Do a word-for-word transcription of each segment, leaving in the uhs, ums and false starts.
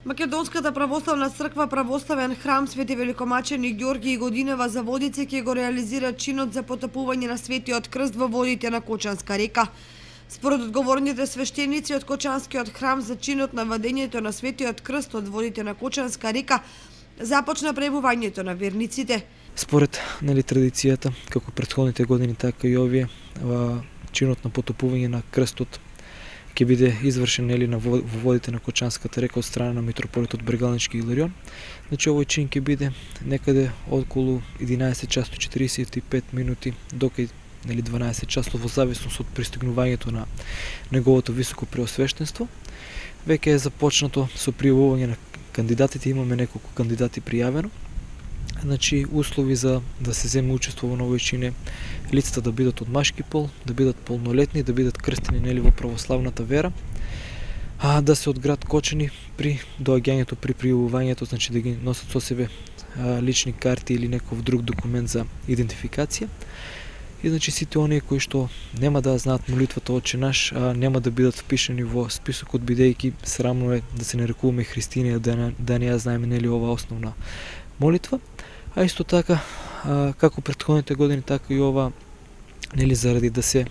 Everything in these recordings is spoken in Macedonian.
Македонската православна црква Православен храм Свети Великомачени Ѓорги и Годинева за Водице ќе го реализира чинот за потопување на Светиот крст во водите на Кочанска река. Според одговорните свештеници од Кочанскиот храм за чинот на вадењето на Светиот крст од водите на Кочанска река започна пребувањето на верниците. Според нели традицијата, како претходните години, така и овие, чинот на потопување на крстот ќе биде извршен нели на во водите на Кочанската река од страна на митрополитот Брегалнички Иларион. Значи овој чин ќе биде некаде околу единаесет часот четиридесет и пет минути до кај нели дванаесет часот во зависност од пристигнувањето на неговото високо преосвештенство. Веќе е започнато со пријавување на кандидатите, имаме неколку кандидати пријавено. Значи, услови за да се земе учество во овој чин е лицата да бидат од машки пол, да бидат полнолетни, да бидат крстени нели во православната вера, а да се од град Кочани при доаѓањето, при пријавувањето, значи да ги носат со себе а, лични карти или некој друг документ за идентификација. И значи сите оние кои што нема да знаат молитвата Отче наш, а нема да бидат впишани во списокот, бидејќи срамно е да се нарекуваме христијани, да не, да не ја знаеме нели ова основна молитва. А исто така, а, како претходните години, така и ова, нели заради да се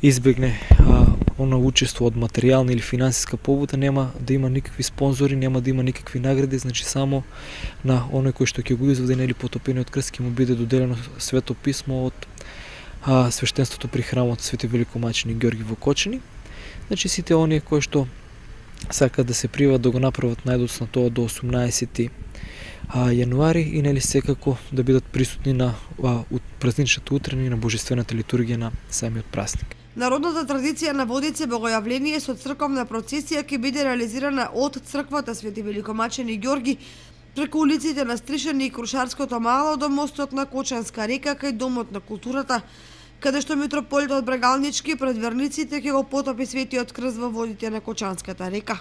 избегне а, она учество од материјална или финансиска побуда, нема да има никакви спонзори, нема да има никакви награди, значи само на оној кој што ќе го изведе нели потопениот крст ќе му биде доделено свето писмо од а, свештенството при храмот Свети Великомачени Ѓорги во Кочани. Значи сите оние кои што сакаат да се пријават да го направат најдоцна тоа до осумнаесети јануари и нели секако да бидат присутни на а, празничната утрина и на божествената литургија на самиот празник. Народната традиција на Водице богојавление со црковна процесија ќе биде реализирана од црквата Свети Великомачени Ѓорги преку улиците на Стришани и Крушарското мало до мостот на Кочанска река кај Домот на културата, каде што митрополитот Брегалнички пред верниците ќе го потопи Светиот крст во водите на Кочанската река.